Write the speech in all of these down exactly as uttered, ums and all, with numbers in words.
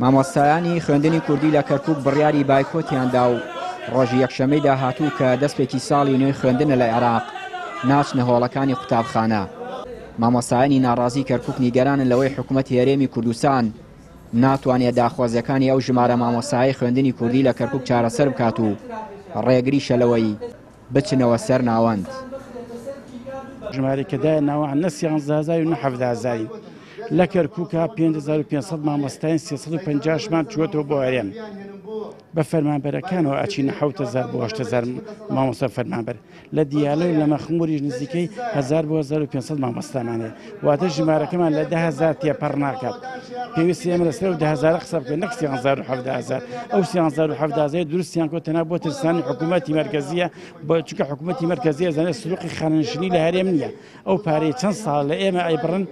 مامۆستایانی خوێندنی کوردی لە کەرکوک بڕیاری بایکۆتیان دا و ڕۆژی یەکشەممەی داهاتوو کە دەستپێکی ساڵی نوێی خوێندنە لە عێراق ناچنە هۆڵەکانی قوتابخانە. مامۆستایانی ناڕازی کەرکوک نیگەرانن لەوەی حکوومەتی هەرێمی کوردستان ناتوانێت داخوازیەکانی ئەو ژمارە مامۆستای خوێندنی کوردی لە کەرکوک چارەسەر بکات و ڕێگریشە لەوەی بچنەوە سەر ناوەند. ژمارەی کە دایە ناوە نە سیانزە هەزار و نە حەڤدە هەزارین. لە کەرکووکا پێنج هەزار و پێنج سەد مامۆستاین سێ سەد و پەنجا ژمان چووەتەوە بۆ هەرێم. بە فەرمانبەرەکانەوە ئەچینە حەوت هەزار بۆ هەشت هەزار مامۆستا فەرمانبەر. لە دیالە و لە مەخموریش نزیکەی هەزار بۆ هەزار و پێنج سەد مامۆستامان هەیە. واتە ژمارەکەمان لە دە هەزار تێپەڕ ناکات. پێویستی ئێمە لەسەر ئەو دە هەزارە قسە بکەین نەک سێ هەزار و حەڤدە هەزار. ئەو سێ هەزار و حەڤدە هەزار دروستیان کۆ تەنها بۆ ترسانی حکوومەتی مەرکەزیە، چونکە حکوومەتی مەرکەزیە زانێت سنووقی خانەنشینی لە هەرێم نییە. ئەو پارەی چەند ساڵ لە ئێمە ئەیبڕن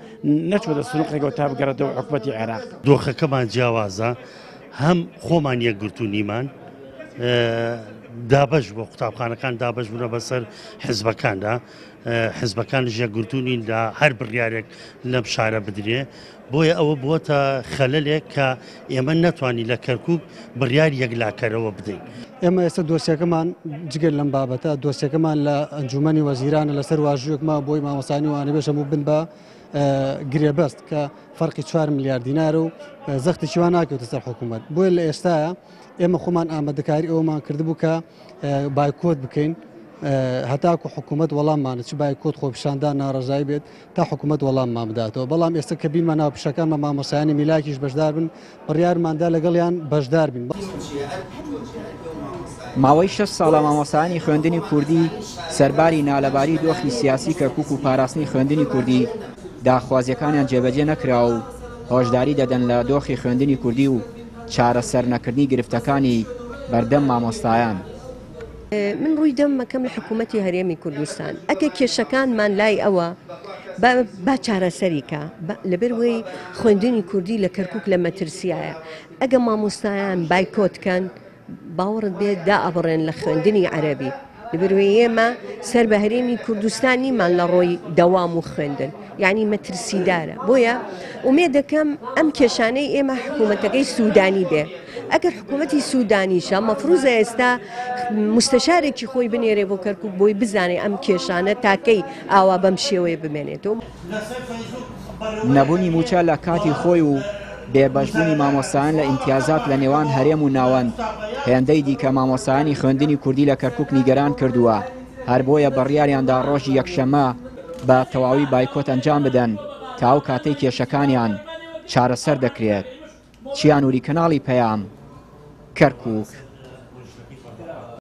نەچووەتە سنووقێکەوە تا بگەڕێتەوە حکوومەتی عێراق. دۆخەکەمان جیاوازە، هەم خۆمان یەکگرتوو نیمان دابەش بۆ قوتابخانەکان دابەش بوونە بەسەر حزبەکاندا، حزبەکانش یەکگرتوو نین لە هەر بڕیارێک لەم شارە بدرێ. بۆیە ئەوە بووەتە خەلەلێک کە ئێمە نەتوانین لە کەرکوک بڕیار یەکلاکەرەوە بدەین. ئێمە ئێستا دۆسیەکەمان جگەر لەم بابەتە دۆسیەکەمان لە ئەنجومەنی وەزیرانە لەسەر واژوویەکما بۆی مامۆستایانی وانەبێژ هەموو بن بە گرێبەست کە فەرقی چوار ملیار دینار و زەختێکی وا ناکەوتە سەر حکوومەت. بۆیە لە ئێستاە ئێمە خۆمان ئامادەکاری ئەومان کردبوو کە بایکۆت بکەین هەتاکو حکوومەت وەڵاممانە چ بایکۆت خۆپیشاندان ناڕەزایی بێت تا حکوومەت وەڵاممان بداتەوە. بەڵام ئێستا کە بینمان ناوپیشەکانمان مامۆستایانی میلاکیش بەشدار بن، بڕیارماندا لەگەڵیان بەشدار بین. ماوەی شەش ساڵە مامۆستایانی خوێندنی کوردی سەرباری نالەباری دۆخی سیاسی کەرکوک و پاراستنی خوێندنی کوردی داخوازیەکانیان جێبەجێ نەکرا و هۆشداری دەدەن لە دۆخی خوێندنی کوردی و چارەسەر نەکردنی گرفتەکانی بەردەم مامۆستایان. من ڕووی دەمەکەم لە حکوومەتی هەرێمی کوردستان ئەگە کێشەکانمان لای ئەوە با چارەسەریکە، لەبەرەوەی خوێندنی کوردی لە کەرکوک لە مەترسیایە. ئەگە مامۆستایان بایکۆت کەن باوەڕت بێت دائەبڕێن لە خوێندنی عەرەبی. لەبەرەوەی ئێمە سەر بە هەرێمی کوردستان نیمان لە ڕۆی دەوام و خوێندن، یعنی مەترسیدارە. بۆیە ئومێد دەکەم ئەم کێشانەی ئێمە حکوومەتەکەی سوودانی بێ. ئەگەر حکوومەتی سوودانیشە مەفروزە ئێستا مستەشارێکی خۆی بنێرێ بۆ کەرکوک بۆی بزانێ ئەم کێشانە تاکەی ئاوا بەم شێوەیە بمێنێتەوە. نەبوونی موچە لە کاتی خۆی و بێبەشبوونی مامۆستایان لە ئیمتیازات لە نێوان هەرێم و ناوەند هێندەی دیکە مامۆستایانی خوێندنی کوردی لە کەرکوک نیگەران کردووە. هەر بۆیە بڕیاریاندا ڕۆژی یەکشەممە بە تەواوی بایکۆت ئەنجام بدەن تا ئەو کاتەی کێشەکانیان چارەسەر دەکرێت. چیانوری، کەناڵی پەیام، کەرکوک.